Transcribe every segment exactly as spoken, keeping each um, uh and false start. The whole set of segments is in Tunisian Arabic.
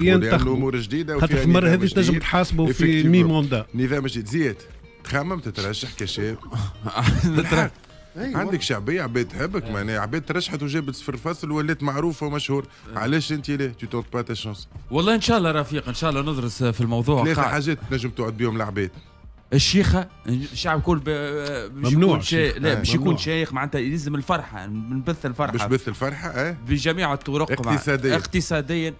لانه امور جديدة. خاطر في المرة هذه تنجم تحاسبوا في mi-mandat. نظام جديد. زياد، تخمم تترشح كشاب؟ عندك شعبيه، عباد تحبك، معناها عباد ترشحت وجابت صفر فاصل ولات معروفة ومشهور، علاش انت لا tu tentes pas ta chance؟ والله ان شاء الله رفيق، ان شاء الله ندرس في الموضوع. ثلاثة حاجات تنجم توعد بهم العباد. الشيخه، الشعب الكل ممنوع. شي... لا باش يكون شيخ معناتها يلزم الفرحه، نبث الفرحة. باش بث الفرحة اه بجميع الطرق. اقتصاديا اقتصاديا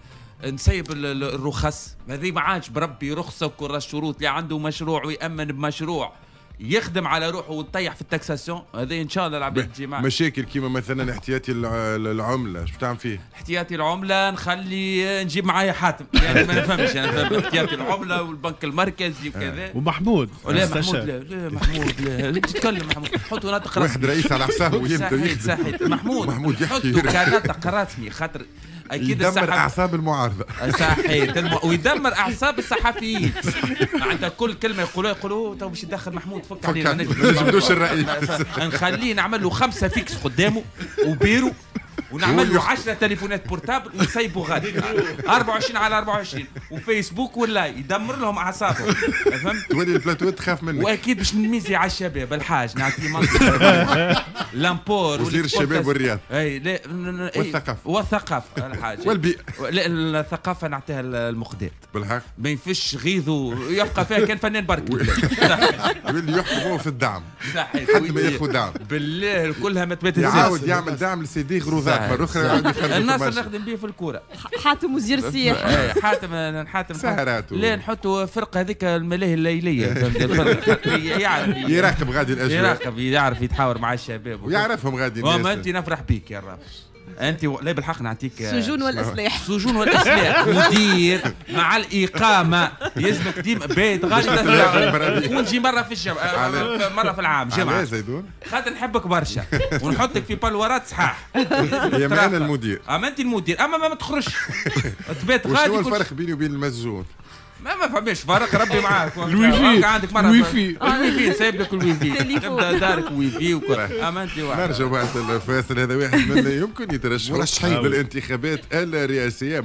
نسيب الرخص هذه، ما عادش بربي رخصه وكل الشروط. اللي عنده مشروع ويامن بمشروع يخدم على روحه ويطيح في ال taxation هذا، ان شاء الله العباد تجي معنا. مشاكل كيما مثلا احتياطي العمله، شو تعمل فيه؟ احتياطي العملة نخلي نجيب معايا حاتم، يعني ما نفهمش انا احتياطي العملة والبنك المركزي وكذا. ومحمود. لا محمود لا، لا محمود لا، تتكلم محمود حطوا ناطق رسمي. واحد رئيس على حسابه ويبدا يخدم. صحيح محمود، محمود يحكي حطوا كناطق رسمي خاطر اكيد يدمر اعصاب المعارضة. صحيح، ويدمر اعصاب الصحفيين. معناتها كل كلمة يقولوها يقولوا تو باش يدخل محمود فك علينا، ما نجبدوش الرئيس. نخليه نعمل له خمسة fixes قدامه وبيرو ونعمل له عشرة تليفونات portables ونسيبوا غادي أربعة وعشرين على أربعة وعشرين وفيسبوك ولا يدمر لهم اعصابهم، فهمت؟ تولي البلاتو تخاف منك. واكيد باش نميزي على الشباب الحاج نعطيه منطقة l'import. وزير الشباب والرياض. اي لا والثقافة. والثقافة الحاج. والبيئة. لا الثقافة نعطيها المقداد. بالحق. ما ينفش غيظه يبقى فيها كان فنان برك. واللي يحكموه في الدعم. صحيح. حتى ما ياخذ دعم. بالله كلها ما تبات. يعاود يعمل دعم لسيدي غروزات. مرة أخرى يعاود يخرج. الناصر نخدم به في الكورة. حاتم وزير السياحة. حاتم حاتم سهرات. لا نحطوا فرقة هذيك الملاهي الليلية. يعرف يراقب غادي الأجواء. يراقب، يعرف يتحاور مع الشباب. ويعرفهم غادي الناس. وما أنت نفرح بيك يا رب. انت و... لا بالحق نعطيك سجون والاسلاح. سجون والاسلاح مدير مع الاقامة يلزمك ديما بيت غادي ونجي مرة في الجمعة مرة في العام جمعه. زيدون خاطر نحبك برشا ونحطك في بالورات صحاح. يا ما انا المدير. اما انت المدير، اما ما تخرجش تبات غادي. شنو الفرق بيني وبين المسجون؟ ما ما فماش فرق، ربي معاك. الويفي عندك مرة ال wifi ال wifi سايب لك الويفي تبدا دارك ويفي وكل. اما انت واحد. نرجع بعد الفاصل، هذا واحد من يمكن يترشح للانتخابات الرئاسية.